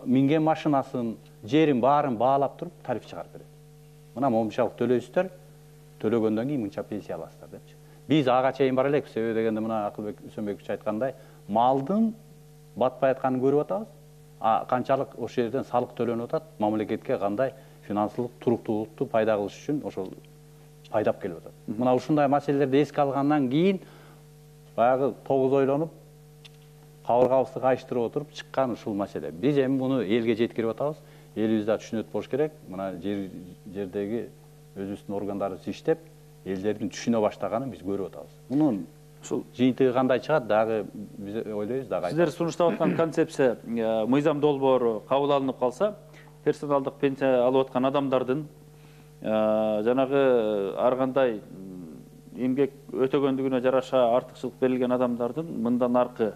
минген машинасын, жерин баарын баалап туруп тариф чыгарып берет. Мына момунчалык төлөйсүздөр, төлөгөндөн кийин мынча пенсия аласыздар депчи. Биз ага чейин бара элек, себеби дегенде мына Акылбек Үсөнбекович айткандай, малдын батпай атканын көрүп атабыз. Канчалык ошол жерден салык төлөнүп атат, мамлекетке кандай финансылык туруктуулукту пайда кылыш үчүн ошол пайдап келип атат. Мына ушундай маселелерди эске алгандан кийин баягы тогуз ойлонуп, кабыргабызды кайыштырып отуруп чыккан ушул маселе. Биз эми муну элге жеткирип атабыз. Элибиз да түшүнөт болуш керек. Мына жердеги өзүбүздүн органдарыбыз иштеп, элдердин түшүнө баштаганын биз көрүп атабыз. Мунун ушул жыйынтыгы кандай чыгат, дагы биз ойлойбуз, дагы. Сиздер сунуштап аткан концепция мыйзам долбоору кабыл алынып калса, персоналдык пенсия алып аткан адамдардын жанагы ар кандай эмгек өтөгөндүгүнө жараша артыкчылык берилген адамдардын мындан аркы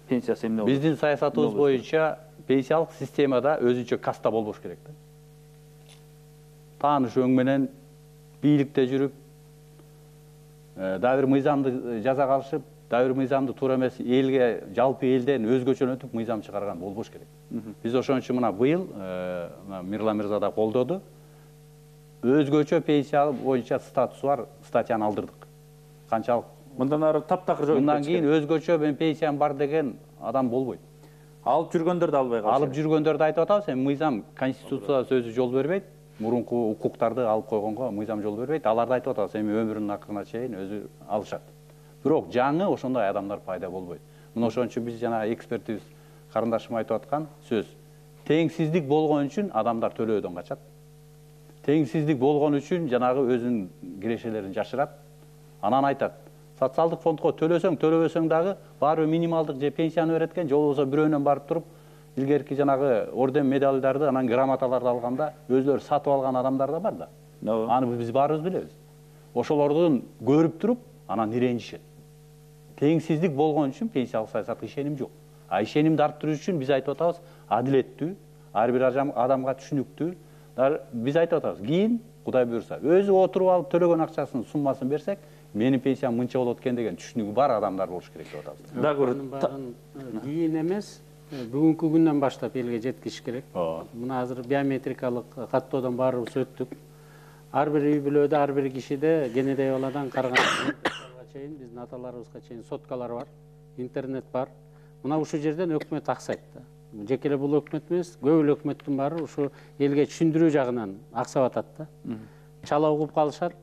пенсиясы эмне болот? Биздин саясатыбыз боюнча пенсиялык системада өзүнчө каста болбош керек да. Тааныш өң менен бийликте жүрүп, дагы бир мыйзамды жаза калышып, дагы бир мыйзамды туура эмес элге, жалпы элден өзгөчөлөнтүп мыйзам чыгарган болбош керек. Биз ошон үчүн мына быйыл Мирлан мырза да колдоду. Өзгөчө пенсия боюнча статусу бар статьяны алдырдык. Канчалык мындан ары таптакыр жок. Мындан кийин өзгөчө мен пенсиям бар деген адам болбойт. Алып жүргөндөрдү албай калыш. Алып жүргөндөрдү айтып атабыз, эми мыйзам конституцияда сөзү жол бербейт. Мурунку укуктарды алып койгонго мыйзам жол бербейт. Аларды айтып атабыз, эми өмүрүнүн акырына чейин өзү алышат. Бирок жаңы ошондой адамдар пайда болбойт. Мына ошон үчүн биз жана экспертибиз карындашым айтып аткан сөз. Теңсиздик болгон үчүн адамдар төлөөдөн качат. Теңсиздик болгон үчүн жанагы өзүнүн кирешелерин жашырат. Анан айтат, социалдык фондко төлөсөң, төлөбөсөң дагы баары минималдык же пенсияны берет экен, же болбосо бирөөнөн барып туруп, илгерки жанагы орден медалдарды, анан грамоталарды алганда өзлөрү сатып алган адамдар да бар да. Аны биз баарыбыз билебиз. Ошолордун көрүп туруп, анан иренжишет. Теңсиздик болгон үчүн пенсиялык саясатка ишеним жок. ишенимди арттыруу үчүн биз айтып атабыз адилеттүү, ар бир адамга түшүнүктүү. Биз айтып атабыз, кийин Кудай буюрса, өзү отуруп алып төлөгөн акчасынын суммасын берсек, менин пенсиям мынча болот экен деген түшүнүгү бар адамдар болуш керек деп атабыз. Дагы кийин эмес, бүгүнкү күндөн баштап элге жеткизиш керек. Мына азыр биометрикалык каттоодон баарыбыз өттүк. Ар бир үй бүлөдө, ар бир кишиде кенедей баладан карыганга чейин биздин аталарыбызга чейин соткалар бар, интернет бар. Мына ушул жерден өкмөт аксайт да. Жеке эле бул өкмөт эмес, көп эле өкмөттүн баары ушу элге түшүндүрүү жагынан аксап атат да. Чала угуп калышат,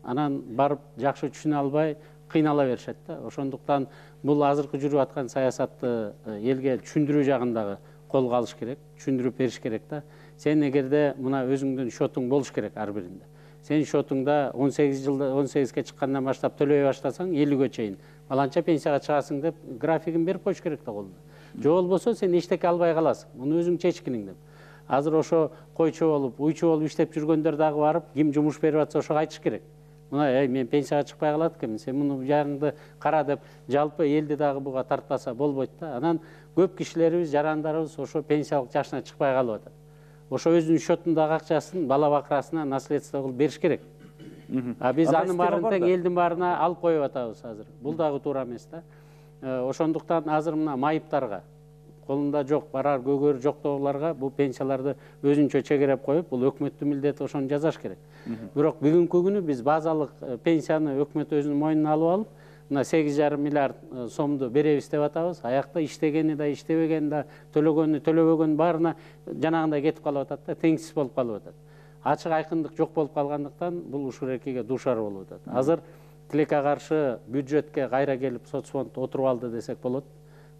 анан барып жакшы түшүнө албай кыйнала беришет да. Ошондуктан бул азыркы жүрүп аткан саясатты элге түшүндүрүү жагындагы колго алыш керек, түшүндүрүп бериш керек да. Сен эгерде мына өзүңдүн счетуң болуш керек ар биринде. Сен счетуңда 18-ге чыккандан баштап төлөй баштасаң 50-ге чейин баланча пенсияга чыгасың деп графигин берип коюш керек да колуна. Же болбосо сен эчтеке албай каласың. Муну өзүң чечкиниң деп. Азыр ошо койчу болуп, уйчу болуп иштеп жүргөндөр дагы барып, ким жумуш берип атса ошого айтыш керек. Мына, мен пенсияга чыкпай калат экенмин, сен муну жагыңды кара деп, жалпы элди дагы буга тартпаса болбойт да. Анан көп кишилерибиз, жарандарыбыз ошо пенсиялык жашына чыкпай калып атат. Ошо өзүнүн счетундагы акчасын бала бакырасына наследство кылып бериш керек. А биз анын баарын тең элдин баарына алып коюп атабыз азыр. Бул дагы туура эмес да. Ошондуктан азыр мына майыптарга, колунда жок, барар көгөр жоктогуларга бул пенсияларды өзүнчө чегереп коюп, бул өкмөттүн милдети, ошону жазаш керек. Бирок бүгүнкү күнү биз базалык пенсияны өкмөт өзүнүн мойнуна алып алып, мына 8,5 миллиард сомду беребиз деп атабыз. Аякта иштегени да, иштебегени да, төлөгөнү, төлөбөгөнү баарына жанагындай кетип калып атат да, теңсиз болуп калып атат. Ачык айкындык жок болуп калгандыктан бул ушул эркеге дуушар болуп атат. Азыр тилекке каршы бюджетке кайра келип соцфонд отуруп алды десек болот.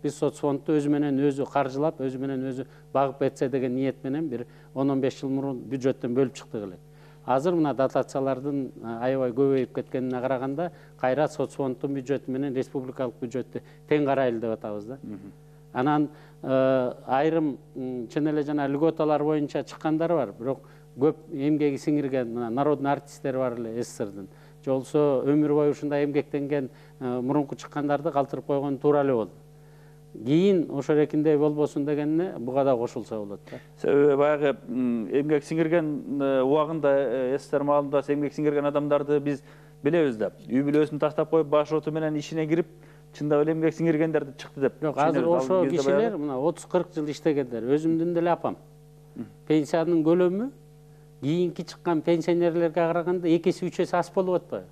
Биз соцфондду өзү менен өзү каржылап, өзү менен өзү багып кетсе деген ниет менен бир 10-15 жыл мурун бюджеттен бөлүп чыктык элек. Азыр мына дотациялардын аябай көбөйүп кеткенине караганда кайра соцфонддун бюджети менен республикалык бюджетти тең карайлы деп атабыз да. Анан айрым чын эле жана льготалар боюнча чыккандар бар, бирок көп эмгеги сиңирген мына народный артисттер бар эле СССРдин. Же болсо өмүр бою ушундай эмгектенген мурунку чыккандарды калтырып койгон туура эле болду. Кийин ошол эркиндей болбосун дегенине буга да кошулса болот да. Себеби баягы эмгек сиңирген убагында СССР маалында эмгек сиңирген адамдарды биз билебиз да. Үй бүлөсүн таштап коюп, баш оту менен ишине кирип, чындап эле эмгек сиңиргендерди чыкты деп. Жок, азыр ошо кишилер мына 30-40 жыл иштегендер, өзүмдүн деле апам. Пенсиянын көлөмү кийинки чыккан пенсионерлерге караганда 2-3 эсе аз болуп атпайбы?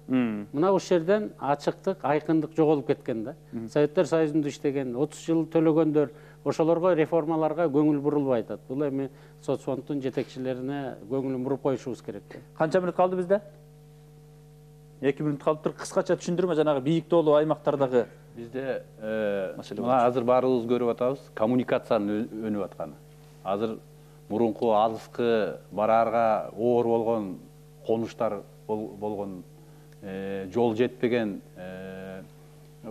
Мына ушул жерден ачыктык, айкындык жоголуп кеткен да. Советтер Союзунда иштеген, 30 жыл төлөгөндөр, ошолорго реформаларга көңүл бурулбай атат. Бул эми соцфонддун жетекчилерине көңүлүн буруп коюшубуз керек. Канча мүнөт калды бизде? 2 мүнөт калыптыр. Кыскача түшүндүрмө жанагы бийик тоолуу аймактардагы бизде мына азыр баарыбыз көрүп атабыз, коммуникациянын өнүп атканы. Азыр мурунку алыскы бараарга оор болгон конуштар болгон, жол жетпеген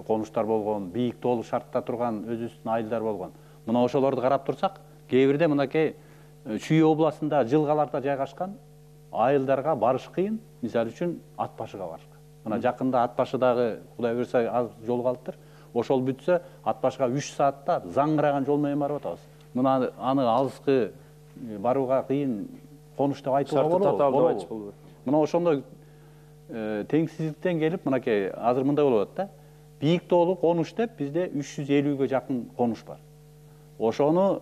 конуштар болгон, бийик тоолуу шартта турган өзүбүздүн айылдар болгон. Мына ошолорду карап турсак, кээ бирде мынакей Чүй областында жылгаларда жайгашкан айылдарга барыш кыйын, мисалы үчүн Ат башыга барышка. Мына жакында Ат башыдагы Кудай буюрса аз жол калыптыр. Ошол бүтсө Ат башыга 3 саатта заңгыраган жол менен барып атабыз. Мына аны алыскы барууга кыйын конуш деп айтууга болобу? Мына ошондой теңсиздиктен келип, мынакей азыр мындай болуп атат да. Бийик тоолуу конуш деп бизде 350-ге жакын конуш бар. Ошону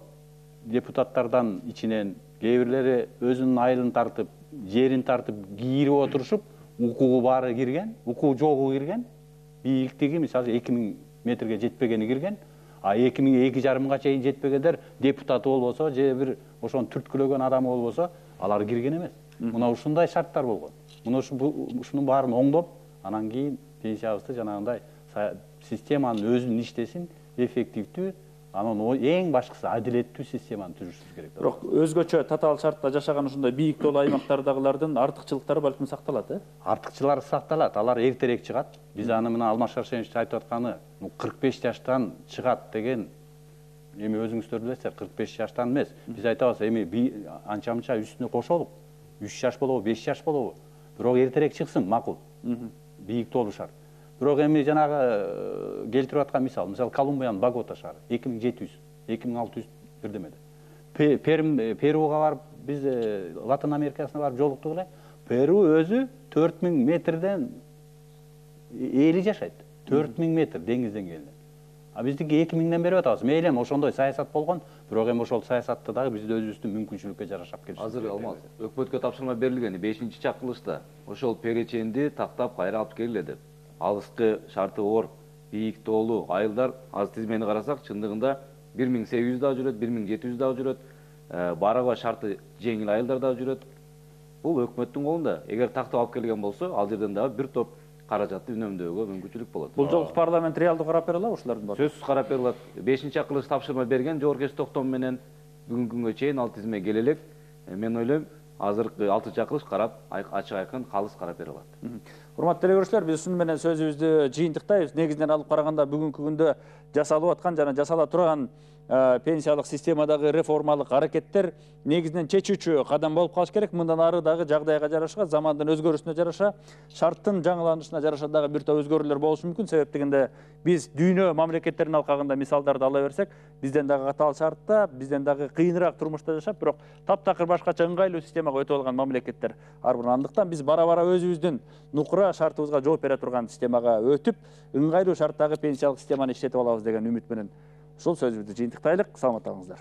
депутаттардан ичинен кээ бирлери өзүнүн айылын тартып, жерин тартып, кийирип отурушуп, укугу баары кирген, укугу жогу кирген, бийиктиги мисалы 2000 метрге жетпегени кирген, а 2000-2,5 чейин жетпегендер депутаты болбосо, же бир ошону түрткүлөгөн адамы болбосо, алар кирген эмес. Мына ушундай шарттар болгон. Мына ушунун баарын оңдоп, анан кийин пенсиябызды жанагындай системанын өзүнүн иштесин, эффективдүү, анан эң башкысы адилеттүү системаны түзүшүбүз керек. Бирок өзгөчө татаал шартта жашаган ушундай бийик тоолуу аймактардагылардын артыкчылыктары балким сакталат, Артыкчылары сакталат, алар эртерээк чыгат. Биз аны мына Алмаз Шаршенович айтып атканы 45 жаштан чыгат деген, эми өзүңүздөр билесиздер, 45 жаштан эмес. Биз айтабыз, эми анча-мынча үстүнө кошолуп, 3 жаш болобу, 5 жаш болобу, бирок эртерээк чыксын, макул. Бийик тоолуу шарт. Бирок эми жанагы келтирип аткан мисалы Колумбиянын Богота шаары 2700, 2600 бирдемеде. Перуга барып, биз Латын Америкасына барып жолуктук эле. Перу өзү 4000 метрден эли жашайт. 4000 метр деңиз деңгээлинен. А биздики 2000ден берип атабыз. Мейли эми ошондой саясат болгон, бирок эми ошол саясатты дагы бизде өзүбүздүн мүмкүнчүлүккө жараша келишибиз. Азыр Алмаз, өкмөткө тапшырма берилген 5-чакырылышта ошол переченди тактап кайра алып келгиле деп. Алыскы шарты оор, бийик тоолуу айылдар азыр тизмени карасак, чындыгында 1800 дагы жүрөт, 1700 дагы жүрөт, бараба шарты жеңил айылдар дагы жүрөт. Бул өкмөттүн колунда. Эгер тактап алып келген болсо, ал жерден дагы бир топ каражатты үнөмдөөгө мүмкүнчүлүк болот. Бул жолку парламент реалдуу карап бере алабы ушулардын баарын? Сөзсүз карап бере алат. 5-чакырылыш тапшырма берген Жогорку Кеңеш токтому менен бүгүнкү күнгө чейин ал тизме келе элек. Мен ойлойм, азыркы 6-чакырылыш карап, ачык айкын калыс карап бере алат. Урматтуу телекөрүүчүлөр, биз ушуну менен сөзүбүздү жыйынтыктайбыз. Негизинен алып караганда бүгүнкү күндө жасалып аткан жана жасала турган пенсиялык системадагы реформалык аракеттер негизинен чечүүчү кадам болуп калыш керек. Мындан ары дагы жагдайга жараша, замандын өзгөрүшүнө жараша, шарттын жаңыланышына жараша дагы бир топ өзгөрүүлөр болушу мүмкүн. Себеп дегенде биз дүйнө мамлекеттеринин алкагында мисалдарды ала берсек, бизден дагы катаал шартта, бизден дагы кыйыныраак турмушта жашап, бирок таптакыр башкача ыңгайлуу системага өтүп алган мамлекеттер ар бир. Андыктан биз бара-бара өзүбүздүн нукура шартыбызга жооп бере турган системага өтүп, ыңгайлуу шарттагы пенсиялык системаны иштетип алабыз деген үмүт менен ушул сөзүбүздү жыйынтыктайлык. Саламатта калыңыздар.